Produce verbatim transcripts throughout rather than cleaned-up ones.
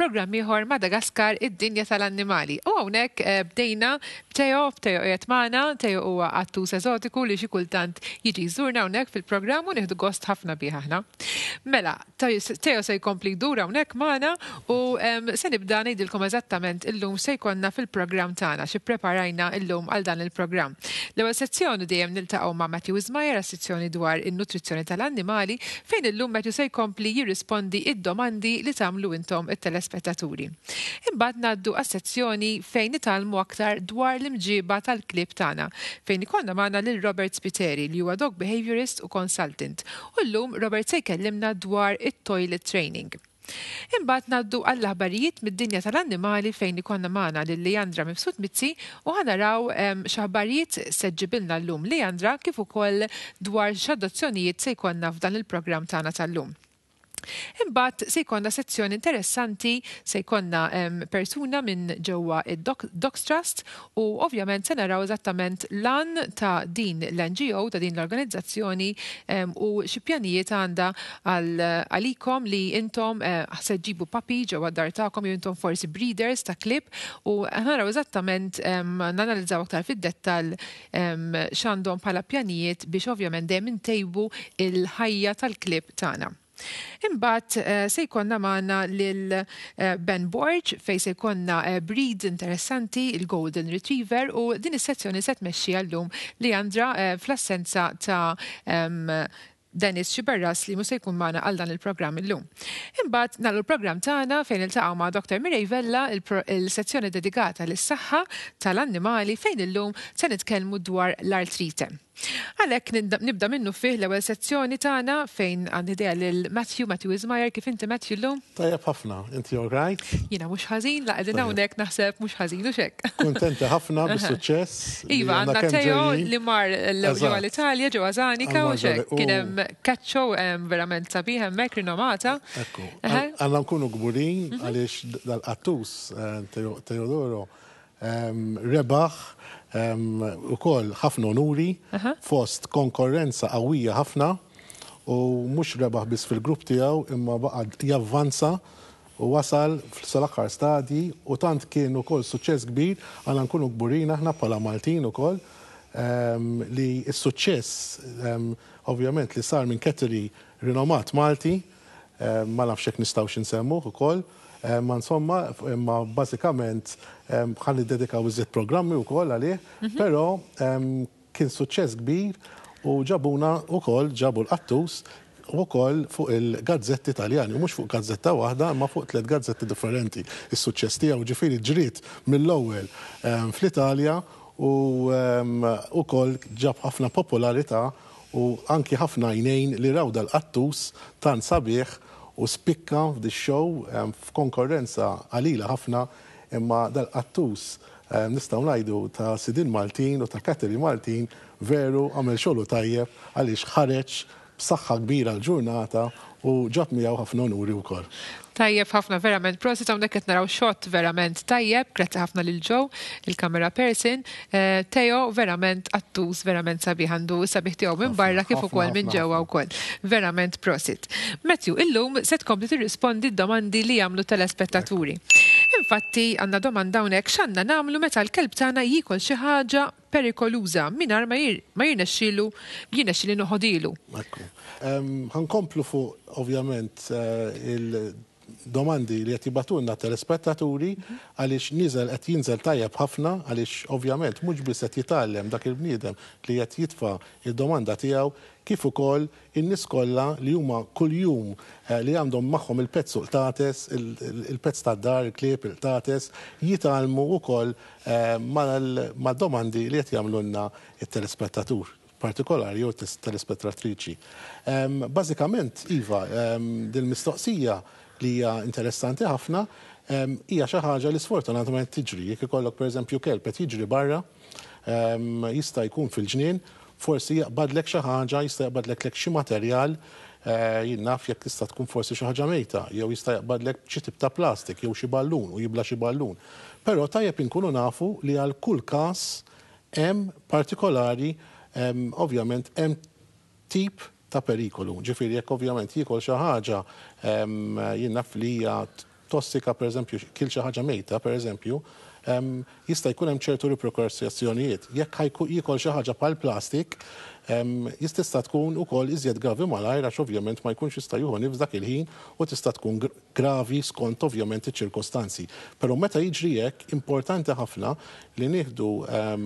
Programm ieħor Madagaskar id-dinja tal-annimali. U hawnhekk eh, bdejna b'Teo, Teo qiegħed magħna, Teo huwa qattus eżotiku li xi kultant jiġi jżurna hawnhekk fil-programm u nieħdu gost ħafna bih aħna. Mela, Teo se jkompli jdur hawnhekk magħna u se nibda ngħidilkom eżattament illum se jkollna fil-programm tagħna xi preparajna illum għal dan il-programm. L-ewwel sezzjoni dejjem niltaqgħu ma' Matthew Ismajer għas-sezzjoni dwar in-nutrizzjoni tal-annimali fejn illum Matthew se jkompli jirrispondi id-domandi li tagħmlu intom it-telespettaturi. Imbagħad ngħaddu għas-sezzjoni fejn nitgħallmu aktar dwar l-imġiba tal-klieb tagħna fejn ikollna magħna lil Robert Spiteri li huwa dog behaviorist u consultant. U llum Robert se jkellimna dwar it-toilet training. Imbagħad ngħaddu għall-aħbarijiet mid-dinja tal-annimali fejn ikollna magħna lil Leandra Mifsud Mizzi u ħa naraw x'aħbarijiet se ġġibilna llum Leandra kif ukoll dwar x'adozzjonijiet se jkollna f'dan il-programm tagħna tal-lum. Imbagħad se jkollna sezzjoni interessanti, se jkollna persuna minn ġewwa id-Dogs Trust u ovvjament se naraw eżattament l-għan ta' din l-N G O, ta' din l-organizzazzjoni u xi pjanijiet għandha għalikom li intom eh, se ġġibu puppy ġewwa d-dar tagħkom jew intom forsi breeders ta' klieb u naraw eżattament nanalizzaw aktar fid-dettall x'għandhom bħala pjanijiet biex ovvjament dejjem intejbu il-ħajja tal-klieb tagħna. Imbagħad eh, se jkollna magħna lil eh, Ben Borg fejn se jkollna eh, breed interessanti, il-Golden Retriever, u din is-sezzjoni se tmexxi llum Leandra fl-assenza ta' Dennis Xiberras li mhux se jkun magħna għal dan il-programm illum. Imbagħad nagħlqu l-programm tagħna fejn iltaqgħu ma' Doktor Mirej Vella, il-sezzjoni dedikata lis-saħħa tal-annimali fejn illum se nitkellmu dwar l-artrite. Għalhekk nibda minnu fih l-ewwel sezzjoni tagħna fejn għandi idea lil Matthew, Matthew Ismajer, kif inti, Matthew, llum? Tajjeb ħafna, inti all right? Jiena mhux ħażin, la qegħdin hawnhekk naħseb mhux ħażin u xek. Kuntenta ħafna bis-suċċess. Iva, għandna Teo li mar ġewwa l-Italja, ġewwa Zanica u xek. Kien hemm cat show verament sabiħ hemmhekk rinomata. Ekku. Għandna nkunu kburin mhm. għaliex dal-qattus eh, Teodoro rebaħ ukoll ħafna onuri fost konkurrenza qawwija ħafna u mhux rebaħ biss fil-grupp tiegħu imma baqa' javvanza u wasal sal-aħħar stadji u tant kien ukoll suċċess kbir. Għandna nkunu kburin aħna bħala Maltin ukoll li s-suċċess ovvjament li sar minn cattery rinomat Malti, ma nafx hekk nistgħux insemmuh ukoll, ma insomma, ma bażikament ħa niddedikaw iżjed programmi wkoll għalih, mhm. però kien suċċess kbir u ġabuna wkoll, ġabu l-qattus ukoll fuq il-gazzetti Taljani, u mhux fuq gazzetta waħda, imma fuq tliet gazzetti differenti. Is-suċċess tiegħu ġifieri ġriet mill-ewwel fl-Italja u ukoll ġab ħafna popolarità u anki ħafna għajnejn li raw dal-qattus tant sabiħ u spikka f'di show f'konkurrenza qalila ħafna, imma dal-qattus nistgħu ngħidu ta' sidin Maltin u ta' cattery Maltin veru għamel xogħlu tajjeb għaliex ħareġ b'saħħa kbira l-ġurnata u ġab miegħu ħafna onuri wkoll. Tajjeb ħafna verament, prosit. Hawnhekk qed naraw shot verament tajjeb, grazzi ħafna lil Joe, il-camera person. Eh, Teo verament qattus verament sabiħ, għandu sabiħ tiegħu minn barra kif ukoll minn ġewwa wkoll. Verament prosit. Matthew, illum se tkompli tirrispondi d-domandi li jagħmlu telespettaturi. Infatti għandna domanda hawnhekk: x'għandna nagħmlu meta l-kelb tagħna jiekol xi ħaġa perikoluża mingħajr ma jirnexxielu jirnexxieli noħodilu? Ekku. Ħa nkomplu fuq ovvjament eh, il-domandi li qed jibagħtulna telespettaturi għaliex niżel qed jinżel tajjeb ħafna, għaliex ovvjament mhux biss qed jitgħallem dak il-bniedem li qed jitfa' il-domanda tiegħu kif ukoll in-nies kollha li huma kuljum eh, li għandhom magħhom il-pets u l-qtates, il-pets tad-dar, il-klieb, il-qtates, jitgħallmu wkoll eh, mal-domandi li qed jagħmlulna it-telespettatur partikolari jew telespettatriċi. Bażikament, iva, dil-mistoqsija li hija interessanti ħafna, hija xi ħaġa li sfortunatament tiġri. Jekk ikollok pereżempju kelb qed jiġri barra, jista' jkun fil-ġnien, forsi jaqbadlek xi ħaġa, jista' jaqbadlek lek xi materjal, eh, jien naf jekk tista' tkun forsi xi ħaġa mejta, jew jista' jaqbadlek xi tip ta' plastik, jew xi ballun u jibla xi ballun. Però tajjeb inkunu nafu li għal kull każ hemm partikolari, ovvjament hemm tip ta' perikolu. Ġifieri jekk ovvjament jiekol xi ħaġa jien naf li hija tossika, per eżempju, kiel xi ħaġa mejta, per eżempju, jista' jkun hemm ċertu riperkussjonijiet. Jekk jiekol xi ħaġa bħal plastik, jista' tkun ukoll iżjed gravi malajr, għax ovvjament ma jkunx jista' jieħu nifs dak il-ħin u tista' tkun gravi skont ovvjament iċ-ċirkostanzi. Però meta jiġri hekk, importanti ħafna li nieħdu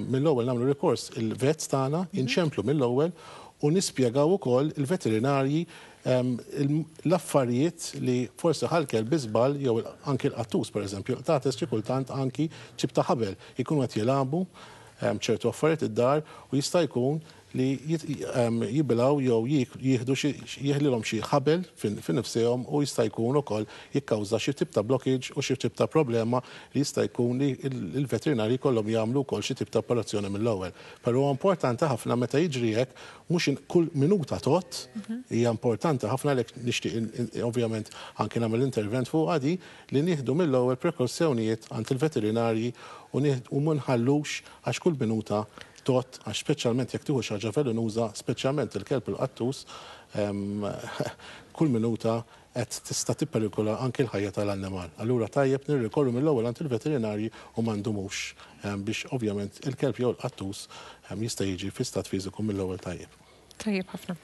mill-ewwel, nagħmlu rikors il-vets tagħna, inċemplu mill-ewwel u nispjegaw ukoll il-veterinarji l-affarijiet li forsi ħa l-kelb bi żball jew anki l-qattus, per eżempju, qtates, xi kultant anki ċip ta' ħabel, ikunu qed jilagħbu ċertu affarijiet id-dar u jista' jkun li jibilgħu jew jieħdu, jeħlilhom xi ħabel fin-nifsihom u jista' jkun ukoll jikkawża xi tip ta' blockage u xi tip ta' problema li jista' jkun li l-veterinari jkollhom jagħmlu wkoll xi tip ta' operazzjoni mill-ewwel. Però importanti ħafna meta jiġri hekk, mhux kull minuta tot, hija importanti ħafna li nixtieq ovvjament anke nagħmel intervent fuq għadi li nieħdu mill-ewwel prekawzjonijiet għand il-veterinarji u ma nħallux, għax kull minuta tot, għax speċjalment jekk tieħu xi ħaġa velenuża, speċjalment il-kelb, il-qattus, kull minuta qed tista' tipperikola anke l-ħajja tal-annimal. Allura tajjeb nirrikorru mill-ewwel għand il-veterinarji u ma ndumux biex ovvjament il-kelb jew il-qattus jista' jiġi fi stat fiżiku mill-ewwel tajjeb. Tajjeb ħafna.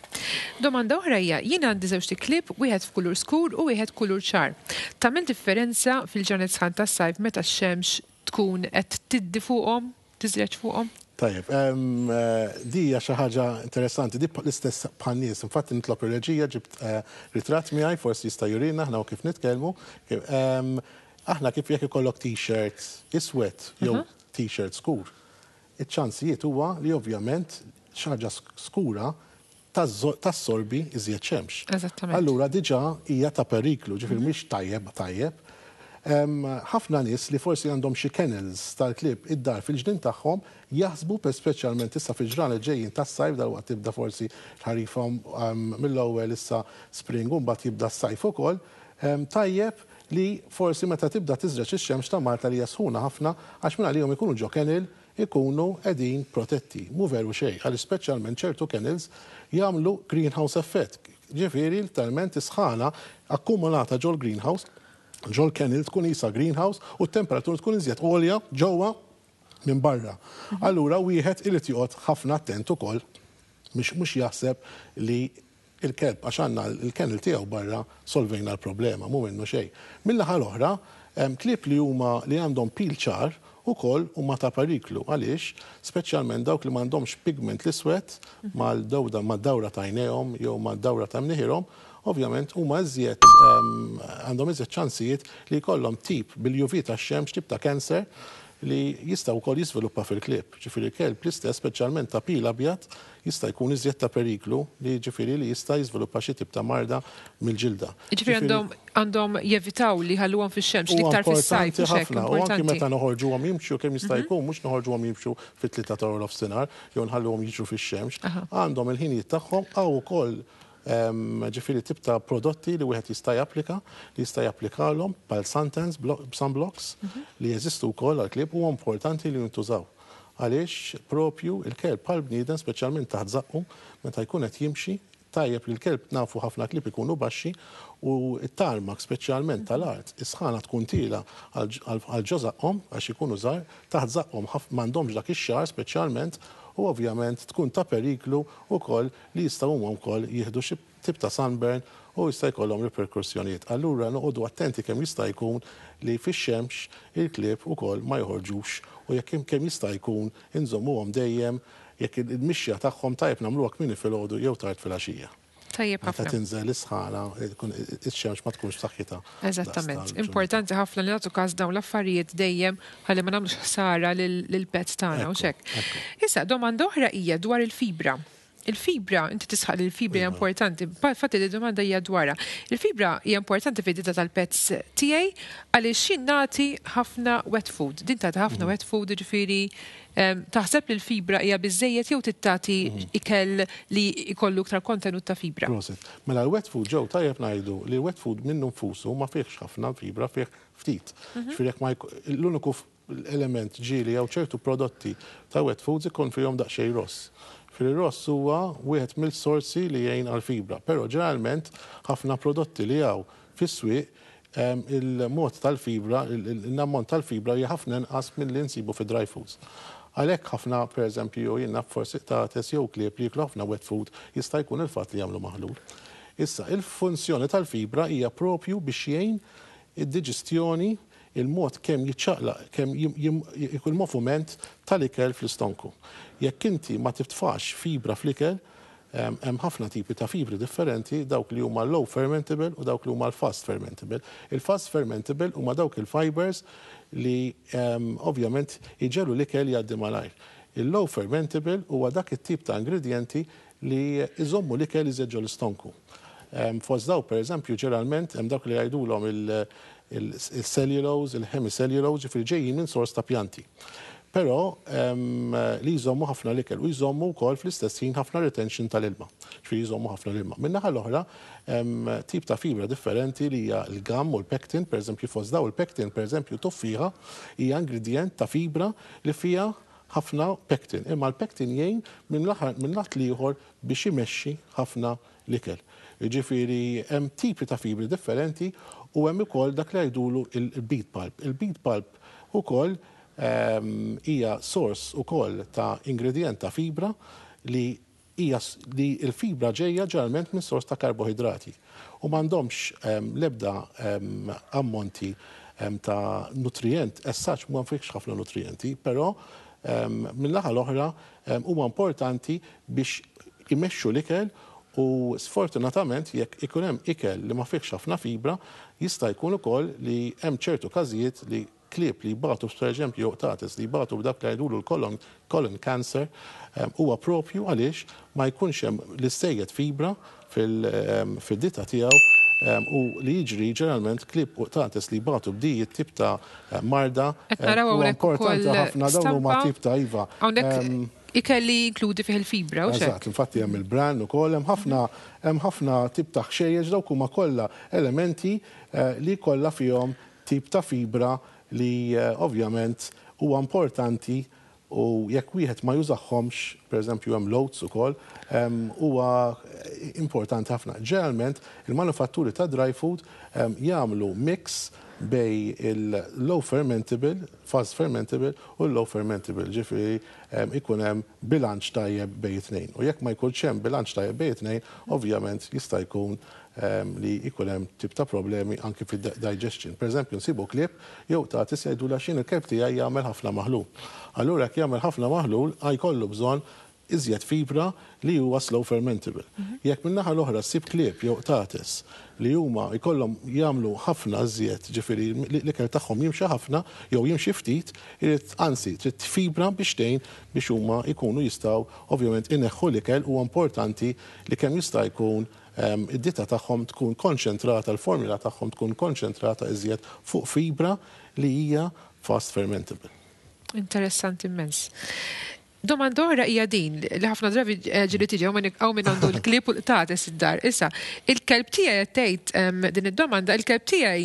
Domanda oħra hija: jiena għandi żewġt iklieb, wieħed f'kulur skur u wieħed kulur ċar. Tagħmel differenza fil-ġranet sħan tas-sajf meta x-xemx tkun qed tiddi fuqhom, tiżreġ fuqhom? Tajjeb, eh, di hija xi ħaġa interessanti, di l-istess bħan-nies. Infatti nitlob ir-reġija, ġibt eh, ritratt miegħi, forsi jista' jurina aħna u kif nitkellmu. Aħna kif jekk ikollok t-shirt iswed jew t-shirt skur, iċ-ċansijiet huwa li ovvjament xi ħaġa skura tassorbi iżjed xemx. Allura diġà hija ta' periklu, ġifieri mhix tajjeb tajjeb. Ħafna nies li forsi għandhom xi kennels tal-klieb id-dar fil-ġnien tagħhom jaħsbu, per speċjalment issa fil-ġranet ġejjin tas-sajf, dal-waqt tibda forsi l-ħarifa mill-ewwel, issa spring, u mbagħad jibda s-sajf ukoll, tajjeb li forsi meta tibda tiżreġ ix-xemx ta' Malta li sħuna ħafna, għax minn għalihom ikunu ġo kennel, ikunu qegħdin protetti. Mhu veru xejn, għal speċjalment ċertu kennels jagħmlu greenhouse effect. Ġifieri literalment is-sħana akkumulata ġol greenhouse, ġol kennel tkun isa greenhouse u t-temperatura tkun iżjed għolja ġewwa minn barra. Allura wieħed irid joqgħod ħafna attent ukoll mhux mhux jaħseb li il-kelb, għax għandna il-kennel tiegħu barra, solvejna l-problema, mhu minnu xejn. Mill-naħa l-oħra, klieb li huma li għandhom pil ċar ukoll huma ta' periklu. Għaliex? Speċjalment dawk li m'għandhomx pigment l-iswed mal-dawda mad-dawra ta' għajnejhom jew mad-dawra ta' mniħirhom, ovvjament huma iżjed għandhom iżjed ċansijiet li jkollhom tip bil-U V tax-xemx, tip ta' cancer li jista' wkoll jiżviluppa fil-klieb. Ġifieri kelb l-istess, speċjalment ta' pil abjad, jista' jkun iżjed ta' periklu li ġifieri li jista' jiżviluppa xi tip ta' marda mill-ġilda. Ġifieri għandhom għandhom jevitaw li ħalluhom fix-xemx l-iktar fis-sajf. Ħafna, u anki meta noħorġuhom jimxu kemm jista' jkun, mhux noħorġuhom jimxu fit-tlieta ta' nofsinhar jew nħalluhom jiġru fix-xemx. Għandhom il-ħinijiet tagħhom għaw ukoll, ġifieri tip ta' prodotti li wieħed jista' japplika, li jista' japplikalhom bħal suntans, sunblocks li jeżistu wkoll għall-klieb, huwa importanti li jintużaw. Għaliex propju il-kelb bħal bniedem, speċjalment taħt żaqqu meta jkun qed jimxi, tajjeb li l-kelb, nafu ħafna klieb ikunu baxxi u t-tarmak speċjalment tal-art, is-sħana tkun tielgħa għal ġo żaqqhom għax ikunu żgħar, taħt żaqqhom m'għandhomx dak ix-xagħar speċjalment u ovvjament tkun ta' periklu wkoll li jistgħu huma wkoll jieħdu xi tip ta' sunburn u jista' jkollhom riperkussjonijiet. Allura noqogħdu attenti kemm jista' jkun li fix-xemx il-klieb ukoll ma joħorġux u jekk kemm jista' jkun inżommuhom dejjem, jekk il-mixja tagħhom tajjeb nagħmluha kmieni filgħodu jew tard filgħaxija. Tajjeb Meta ħafna. tinżel is-sħana, ix-xemx ma tkunx b'saħħitha. Eżattament. Importanti ħafna li nagħtu każ dawn l-affarijiet dejjem ħalli ma nagħmlux ħsara lil-pets tagħna u hekk. Issa domanda oħra hija dwar il-fibra. Il-fibra, inti tisħaq li l-fibra hija importanti, fatti li domanda hija dwarha. Il-fibra hija importanti fid-dieta tal-pets tiegħi għaliex jien nagħti ħafna wet food. Din tagħti ħafna wet food, ġifieri taħseb li l-fibra hija biżejjed jew tagħti ikel li jkollu iktar kontenut ta' fibra? Prosit. Mela l-wet food ġew, tajjeb ngħidu li l-wet food minnu nfusu ma fihx ħafna fibra, fih ftit. Ġifieri jekk ma l-uniku element ġieli jew ċertu prodotti ta' wet foods ikun fihom daqsxejn ross. Fil-ross huwa wieħed mill-sorsi li jgħin għal-fibra, però ġeneralment ħafna prodotti li hawn fis-swieq il-mod tal-fibra, l-ammont tal-fibra hija ħafna inqas milli nsibu fi dry foods. Għalhekk ħafna, pereżempju, jiena forsi qtates jew klieb li jieklu ħafna wet food jista' jkun il-fatt li jagħmlu maħlul. Issa, il-funzjoni tal-fibra hija propju biex jgħin id-diġestjoni, il-mod kemm jiċċaqlaq, kemm ikun moviment tal-ikel fl-istonku. Jekk inti ma titfax fibra fl-ikel, hemm ħafna tipi ta' fibri differenti, dawk li huma low fermentable u dawk li huma l-fast fermentable. Il-fast fermentable huma dawk il-fibers li ovvjament iġegħlu l-ikel jgħaddi malajr. Il-low fermentable huwa dak it-tip ta' ingredienti li iżommu l-ikel iżjed ġol-istonku. Fost daw, per eżempju, ġeneralment hemm dawk li jgħidulhom il-cellulose, il-hemicellulose, ġifieri ġejjin minn sors ta' pjanti. Però li jżommu ħafna l-ikel u jżommu wkoll fl-istess ħin ħafna retention tal-ilma. Ġifieri jżommu ħafna l-ilma. Min-naħa l-oħra, tip ta' fibra differenti li hija l-gum u l-pectin, per eżempju fost daw il-pectin, per eżempju tuffieħa, hija ingredient ta' fibra li fija ħafna pectin. Imma l-pectin jgħin minn lat l-ieħor biex imexxi ħafna l-ikel. Ġifieri hemm tipi ta' fibri differenti u hemm ukoll dak li jgħidulu il-beet pulp. Il-beet pulp ukoll hija sors ukoll ta' ingredient ta' fibra li hija li l-fibra ġejja ġeneralment minn sors ta' karbohidrati u m'għandhomx l-ebda ammonti ta' nutrient, as such ma fihx ħafna nutrienti, però mill-naħa l-oħra huma importanti biex imexxu l-ikel. U sfortunatament jekk ikun hemm ikel li ma fihx ħafna fibra, jista' jkun ukoll li hemm ċertu każijiet li klieb li jbatu, per eżempju, qtates li jbatu b'dak li jgħidulu l-colon colon cancer, huwa propju għaliex ma jkunx hemm l-istejjed fibra fil-dieta tiegħu, u li jiġri ġeneralment klieb u qtates li jbatu b'di tip ta' marda. Qed naraw Huwa hawnhekk importanti ukoll ħafna dawn huma stampa. tip ta' iva. Hawnhekk ikel li jinkludi fih il-fibra, u xek? Eżatt, infatti hemm il-bran ukoll, hemm ħafna hemm ħafna tip ta' ħxejjex, dawk huma kollha elementi eh, li kollha fihom tip ta' fibra li eh, ovvjament huwa importanti, u jekk wieħed ma jużahomx, pereżempju hemm l-oats ukoll, em, huwa importanti ħafna. Ġeneralment il-manufatturi ta' dry food em, jagħmlu mix bejn il-low fermentable, fast fermentable u l-low fermentable, ġifieri em, ikun hemm bilanċ tajjeb bejn it-tnejn. U jekk ma jkunx hemm bilanċ tajjeb bejn it-tnejn, ovvjament jista' jkun em, li jkun hemm tip ta' problemi anki fid-digestion. Per eżempju, nsibu klieb jew qtates jgħidu la xin il-kelb tiegħi jagħmel ħafna maħlul. Allura jekk jagħmel ħafna maħlul, jkollu bżonn iżjed fibra li huwa slow fermentable. Jekk min-naħa l-oħra ssib klieb jew qtates li huma jkollhom jagħmlu ħafna iżjed, ġifieri l-ikel tagħhom jimxi ħafna jew jimxi ftit, irid anzi trid fibra biex tgħin biex huma jkunu jistgħu ovvjament ineħħu l-ikel. Huwa importanti li kemm jista' jkun em, id-dieta tagħhom tkun konċentrata, l-formula tagħhom tkun konċentrata iżjed fuq fibra li hija fast fermentable. Interessanti immens. Domanda oħra hija din li ħafna drabi eh, ġieli tiġi hawn min għandu l-klieb u l-qtates id-dar. Issa, il-kelb tiegħi qed tgħid em, din id-domanda, il-kelb tiegħi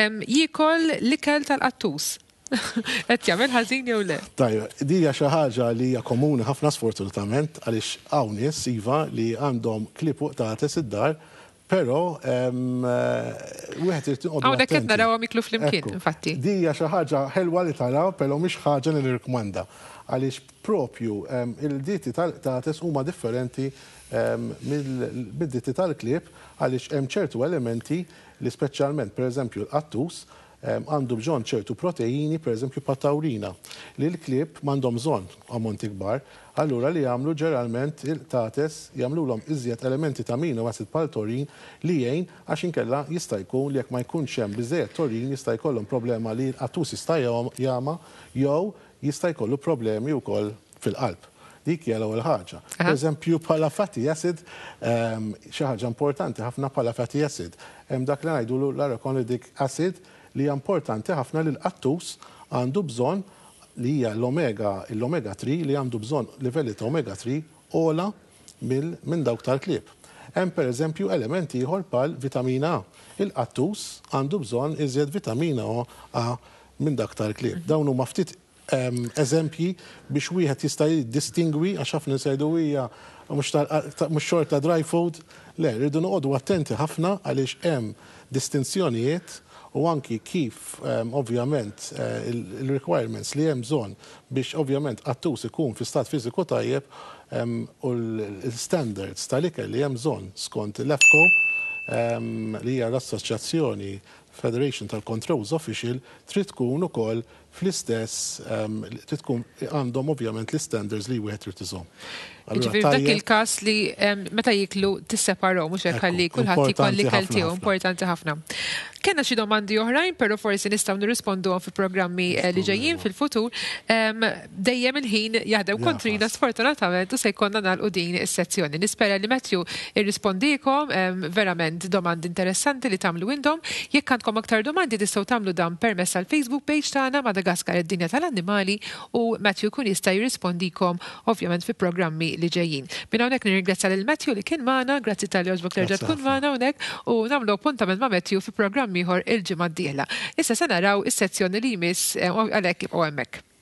em, jiekol l-ikel tal-qattus. Qed jagħmel ħażin jew le? Tajba, di hija xi ħaġa li hija komuni ħafna sfortunatament, għaliex hawn nies iva li għandhom klieb u qtates id-dar, però em, eh, wieħed irid joqgħodu Hawnhekk qed attenti. narawhom jiklu flimkien, Ekku. infatti. Di hija xi ħaġa ħelwa li taraw, però mhix ħaġa li nirrikmanda. Għaliex propju em, il-dieti tal-qtates huma differenti em, mill- mid-dieti tal-klieb, għaliex hemm ċertu elementi li speċjalment, per eżempju, l-qattus em, għandu bżonn ċertu proteini, per eżempju patawrina, li l-klieb m'għandhom bżonn ammonti kbar. Allura li jagħmlu ġeneralment il-qtates jagħmluhom iżjed elementi ta' amino acid bħal taurin li jgħin, għax inkella jista' jkun li jekk ma jkunx hemm biżejjed taurin jista' jkollhom problema li l-qattus jista' jagħma jew jista' jkollu problemi wkoll fil-qalb. Dik hija l-ewwel ħaġa. Aha. Per eżempju, bħala fatty acid, ehm, xi ħaġa importanti ħafna bħala fatty acid. Hemm dak li ngħidulu l-arachidonic acid li hija importanti ħafna li l-qattus għandu bżonn, li hija l-omega, l-omega tlieta, li għandu bżonn livelli ta' omega tlieta ogħla minn dawk tal-klieb. Hemm per eżempju elementi ieħor bħal vitamina A. Il-qattus għandu bżonn iżjed vitamina A minn dak tal-klieb. Dawn huma ftit em, eżempji biex wieħed jista' jiddistingwi, għax ħafna jgħidu hija mhux tal- mhux xorta dry food. Le, rridu noqogħdu attenti ħafna għaliex hemm distinzjonijiet u anki kif ovvjament eh, il-requirements li hemm bżonn biex ovvjament qattus ikun fi stat fiżiku tajjeb u l-standards tal-ikel li hemm bżonn skont l-AFCO, li hija l-Assoċjazzjoni Federation tal-Controls Official, trid tkun ukoll fl-istess, trid tkun għandhom ovvjament l-standards li wieħed trid iżomm. Ġifieri f'dak il-każ li meta jiklu tisseparaw, mhux hekk, ħalli kulħadd jkolli l-ikel tiegħu, importanti ħafna. Kellna xi domandi oħrajn, però forsi nistgħu nirrisponduhom fi programmi eh, li ġejjin fil-futur. Dejjem il-ħin jaħdem kontrina sfortunatament u se jkollna nagħlqu din is-sezzjoni. Nispera li Matthew irrispondikom, verament domandi interessanti li tagħmlu intom. Jekk għandkom aktar domandi, tistgħu tagħmlu dan permezz tal-Facebook page tagħna, Madagaskar id-dinja tal-annimali, u Matthew kun jista' jirrispondikom ovvjament fi programmi li ġejjin. Minn hawnhekk nirringrazzja lil Matthew li kien magħna, grazzi talli għoġbok terġa' tkun magħna hawnhekk, u nagħmlu appuntament ma' Matthew fi programm ieħor il-ġimgħa d-dieħla. Issa se naraw is-sezzjoni li jmiss eh, għalhekk ibqgħu hemmhekk.